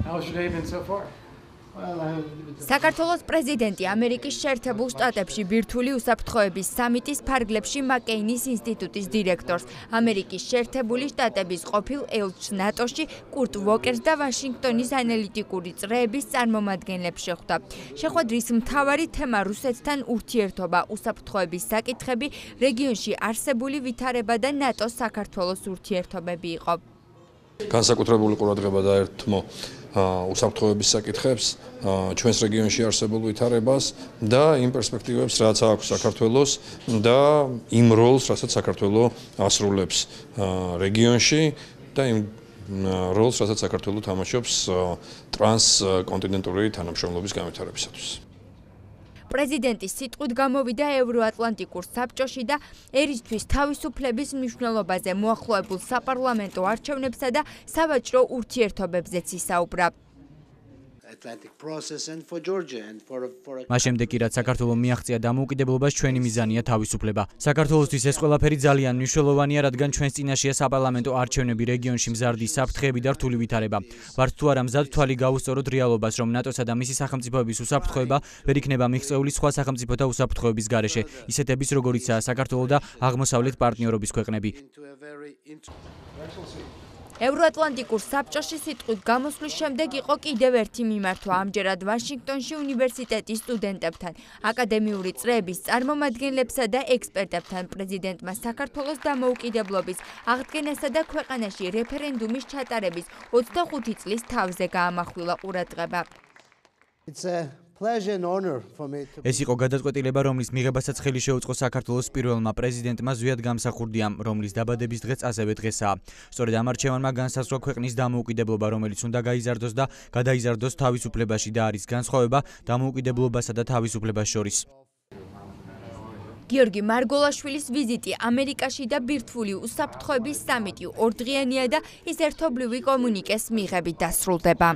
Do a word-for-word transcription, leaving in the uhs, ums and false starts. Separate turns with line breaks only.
How's your day been so far?
საქართველოს პრეზიდენტი ამერიკის შეერთებულ შტატებში ბირთვული უსაფრთხოების სამიტის ფარგლებში მაკეინის ინსტიტუტის დირექტორს, ამერიკის შეერთებული შტატების ყოფილ ელჩს ნატოში კურტ ვოკერს და ვაშინგტონის ანალიტიკური წრეების წარმომადგენლებს შეხვდა. შეხვედრის მთავარი თემა რუსეთთან ურთიერთობა, უსაფრთხოების საკითხები, რეგიონში არსებული ვითარება და ნატოს საქართველოს ურთიერთობები იყო.
განსაკუთრებული ყურადღება დაერთმო უსაფრთხოების საკითხებს, ჩვენს რეგიონში არსებულ ვითარებას და იმ პერსპექტივებს, რაც აქვს საქართველოს და იმ როლს, რასაც საქართველო ასრულებს რეგიონში და იმ როლს, რასაც საქართველო თამაშობს ტრანსკონტინენტური თანამშრომლობის განვითარებისათვის.
პრეზიდენტის სიტყვით გამოვიდა ევროატლანტიკურ საბჭოში და ერისთვის თავისუფლების მნიშვნელობაზე მოახლოებულ საპარლამენტო არჩევნებსა და სავაჭრო ურთიერთობებზეც ისაუბრა.
მას შემდეგ კი რაც საქართველომ მიაღწია დამოუკიდებლობას, ჩვენი მიზანია თავისუფლება. საქართველოსთვის ეს ყველაფერი ძალიან მნიშვნელოვანია, რადგან ჩვენს წინაშეა საპარლამენტო არჩევნები, რეგიონში მზარდი საფრთხეები და რთული ვითარება. ვართ თუ არა მზად თვალი გავუსწოროთ რეალობას, რომ ნატოსა და მისი სახელმწიფოების უსაფრთხოება ვერ იქნება მიღწეული სხვა სახელმწიფოთა უსაფრთხოების გარეშე, ისეთების როგორიცაა საქართველო და აღმოსავლეთ პარტნიორობის ქვეყნები.
ევროატლანტიკურ საბჭოში სიტყვით გამოსვლის შემდეგ იყო კიდევ ერთი მიმართვა, ამჯერად ვაშინგტონში უნივერსიტეტის სტუდენტებთან, აკადემიური წრეების წარმომადგენლებსა და ექსპერტებთან. პრეზიდენტმა საქართველოს დამოუკიდებლობის აღდგენასა და ქვეყანაში რეფერენდუმის ჩატარების ოცდახუთი წლის თავზე გაამახვილა ყურადღება.
ეს იყო გადაწყვეტილება, რომლის მიღებასაც ხელი შეუწყო საქართველოს პირველმა პრეზიდენტმა ზვიად გამსახურდიამ, რომლის დაბადების დღეც ასევე დღესაა. სწორედ ამ არჩევანმა განსაზღვრა ქვეყნის დამოუკიდებლობა, რომელიც უნდა გაიზარდოს და გადაიზარდოს თავისუფლებაში და არის განსხვავება დამოუკიდებლობასა და თავისუფლებას შორის.
გიორგი მარგოლაშვილის ვიზიტი ამერიკაში და ბირთვული უსაფრთხოების სამიტი ორდღიანია და ის ერთობლივი კომუნიკეს მიღებით დასრულდება.